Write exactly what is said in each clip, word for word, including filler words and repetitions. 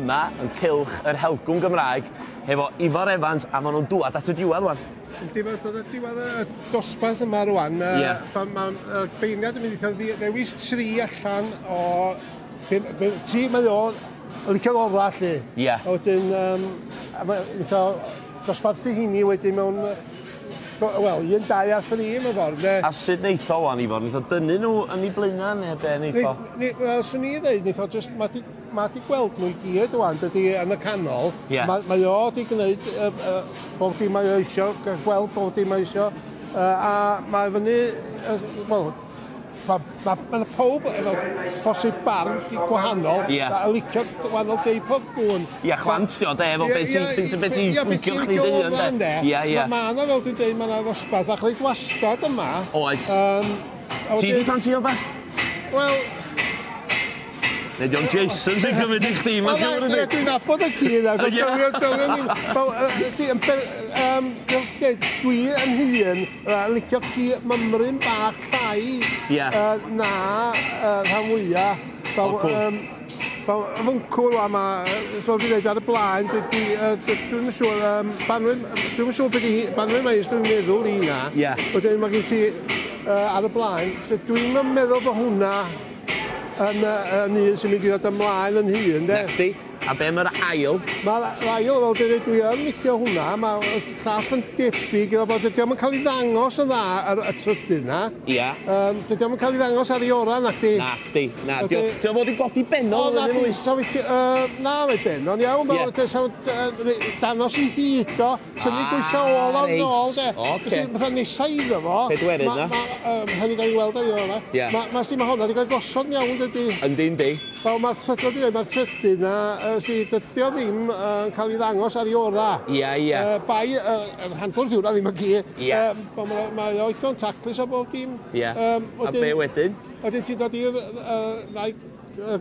Yma yn cylch yr Helgwn Gymraeg hefo Ifor Evans, a maen nhw'n dŵad at y diwedd rwan. Yndi, mae'n dod at diwedd y dosbarth yma rwan. Ie. Mae'r beirniad yn mynd i ddewis tri allan o... Tri mae o'n licio'r orau, lly. Ie. A wedyn, um, a dosbarthu hynny wedyn mewn... Wel, un, dau a thri mewn ffordd, de. A sut neith o wan, Ifor? Neith o dynnu nhw yn ei blaenau neu be neith o? Wel, swn i ddeud, neith o just... Mae di gweld nhw i gyd wan, dydy, yn y canol. Yeah. Mae, mae o di gwneud uh, uh, bob dim mae o isio, gweld bob dim mae isio. Uh, a mae fyny, uh, wel, mae ma, ma pob efo posib barn gwahanol. Yeah. A licio wahanol deip o gwn. Ia, chwant di o, de, efo beth ti'n licio chdi dy hun, de. Ia, ia. Mae yna, fel dwi'n deud, mae yna ddosbarth bach reit wastad yma. Oes. Um, Ti di ffansio bach? Wel... Neu di o'n Jason sy'n cymryd i chdi, mae'n siŵr ydi. Dwi'n nabod y ci yna, so dylwn ni... Dwi yn hun licio ci mymryn bach llai na rhan fwyaf. Fwncw rwan, fel dwi'n dweud ar y blaen, dwi'n siŵr, dwi'n siŵr beth i Banwyn Maes, dwi'n meddwl i hynna. Wedyn mae gen ti ar y blaen, dwi'n meddwl bod hwnna yn, yn un sy'n mynd i ddod ymlaen yn hun, de. Nacdi. A be mae'r ail? Mae'r ail, fel dwi'n dweud, dwi yn licio hwnna. Mae'r llall yn debyg iddo fo. Dydy o'm yn cael ei ddangos yn dda ar y trydydd na. Ia. Um, dydy o'm yn cael ei ddangos ar ei ora, nacdi. Nacdi. Na, dio fod i godi benol. O, nacdi. So, uh, na, mae benon iawn. Yeah. Danos i hyd o. Tynnu gwysa ôl o'r nôl, de. Oce. Fatha nesa iddo fo. Pedwerydd na. Hynny gael ei weld ar ei ora. Mae hwnna wedi cael gosod iawn, dydy. Yndi, yndi. Wel, mae'r trydydd, mae'r trydydd na, dydy o ddim yn cael ei ddangos ar ei ora. Ia, ia. Bai, yr handwrdd hwnna ddim yn gi. Ia. Mae o igon taclus o bob dim. Ia. A be wedyn? Wedyn ti'n dod i'r ddau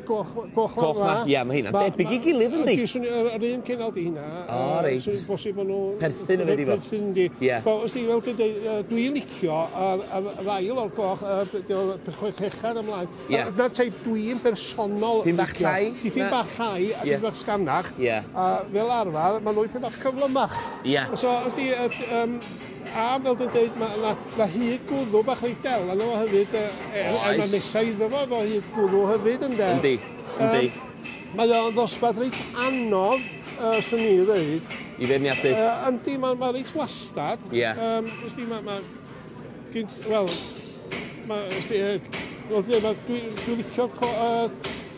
goch goch na. Ia, mae hynna'n debyg i gilydd, yndi? Yr un cenol di hynna. O, reit. Bosib bod nhw... Perthyn yn wedi fod. Perthyn, yndi. Ia. Wel, os ti, fel dwi'n deud, dwi'n licio yr ail o'r goch, chwechad ymlaen. Ia. Dyna'r teip dwi'n bersonol... Dipyn bach llai? Dipyn bach llai a dipyn bach sganach. Ia. A fel arfer, maen nhw dipyn bach cyflymach. Ia. So, os ti... A fel dwi'n deud, mae yna hyd gwddw bach reit del arno fo hefyd. Er mae nesa iddo fo efo hyd gwddw hefyd, ynde? Yndi, yndi. Mae o'n ddosbarth reit anodd, swn i ddweud. I feirniadu? Yndi, mae'n reit wastad. Ie. Wsti, mae... Wel, dwi'n licio'r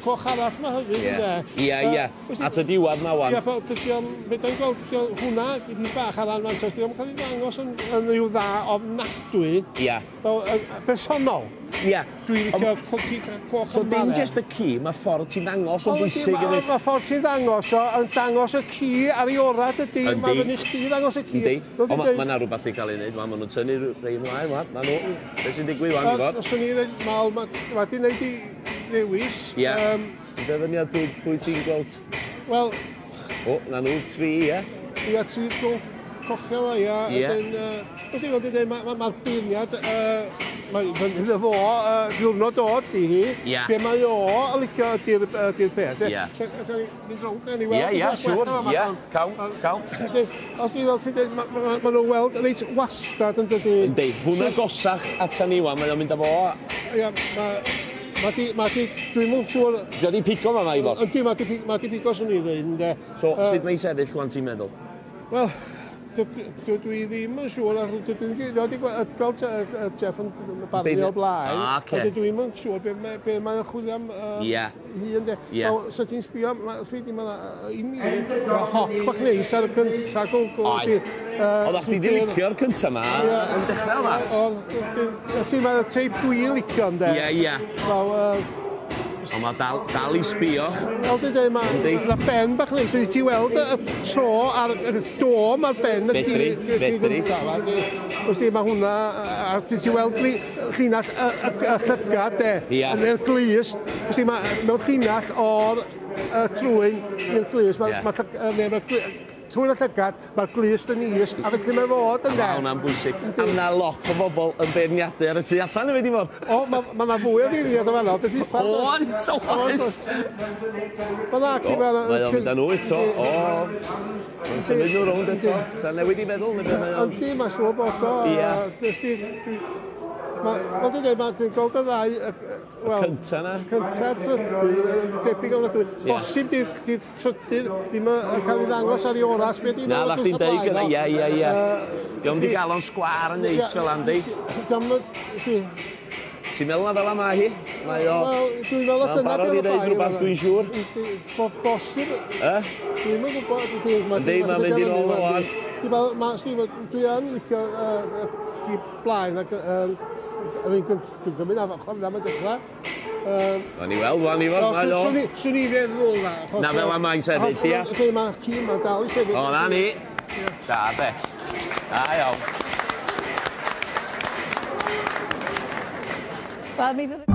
coch arall ma hefyd, ynde? Ia, ia. At y diwedd ma wan. Ia, dydy o'n... Fedrai'n gweld, hwnna, dipyn bach ar anfantais, dydy o'm cael ei ddangos yn rhyw dda ofnadwy. Ia. Fel, personol. Ia. Dwi'n licio ci coch So yma. dim jyst y ci, mae ffordd ti'n ddangos yn bwysig hefyd. Mae ffordd ti'n ddangos o, yn dangos y ci ar ei ora, dydy. Yndi. Mae fyny chdi ddangos y ci. Yndi. Ond mae yna rhywbeth i cael ei wneud, maen nhw'n tynnu rei ymlaen, wan. Ma nhw. Be sy'n digwydd wan, Ifor? Swn i ddweud, mae di wneud i ddewis. Ie. Dyfyniad pwy ti'n gweld? Wel... O, na nhw, tri, ie? Ia, tri cochio fo, ia. Ie. Wrth i fod yn dweud, mae'r beirniad, mae fyny iddo fo, diwrnod dod di hi. Ie. Be mae o yn licio ydy'r peth. Ie. Sa'n mynd rownd, gawn ni weld. Ie, ie, siŵr, ie, cawn, cawn. Os ti fel ti'n dweud, maen nhw'n weld reit wastad yn dydi. Yndi, hwnna gosach ata ni wan, mae o'n mynd â fo. Ie, mae... Mae di, mae di, dwi'n mwyn siŵr... Di o di pigo fa ma, Ifor? Yndi, mae di, mae di pigo, swn i ddweud, ynde. So, sut mae'n sefyll wan ti'n meddwl? Wel, dwi ddim yn siŵr, dwi'n wedi gweld Jeff yn barnu o blaen. Ah, oce. Ond dwi'n yn siŵr be mae'n chwilio am hun, de. Ie. So ti'n sbio, i mi, mae hoc bach neis ar y cynta gwgl. Oedd. Oeddach chdi di licio'r cynta ma yn dechrau dda? Oedd. Mae'r teip dwi'n licio, ynde. Ie, ie. Ond mae dal, dal i sbio. Fel dwi'n dweud, mae ma ben bach neis. Wedi ti weld y tro a'r dôm ar ben y Fedri, fedri. Wrth i, mae hwnna, a dwi ti weld llinell y, y, y llygad, de. Ia. Yn yr glust. Wrth i, mae mewn llinell o'r trwyn i'r glust, mae, Ie. ma, ma, trwy'n y llygad, mae'r glust yn is, a felly mae fod yn de. Mae hwnna'n bwysig. A mae lot o bobl yn beirniadu ar y tu allan hefyd i fod. O, mae ma 'na fwy o feirniad o fanno, beth uffar. Oes, oes. Mae na, ci, mae Mae o'n mynd â nhw eto. O, mae'n symud nhw rownd eto. Sa'n newid i feddwl, neu beth mae o'n... Yndi, mae'n siŵr bod o. Ie. Mae'n dweud, dwi'n gweld y ddau... Wel, cynta na. Cynta, trydydd, debyg o'n dwi. Bosib di'r trydydd ddim yn cael ei ddangos ar ei oras. Na, na chdi'n deud gyda, ie, ie, ie. Dio'm di gael o'n sgwar yn neis fel andi. Ti'n meddwl na fel yma hi? Mae o... Wel, dwi'n meddwl dyna barod i ddeud rhywbeth, dwi'n siŵr. Bosib. Dwi'm yn gwybod. Yndi, mae'n mynd i'n ôl o wan. Dwi yn licio i blaen ac yr un dwi'n gymryd af ochr am y dechrau. Gawn ni weld, wan i fod, mae o. Swn i feddwl na. Na fel am mae'n sefyll, ia. Lle mae ci ma'n dal i sefyll. O, na ni. Da, be. Da iawn. Wel, mi fydd...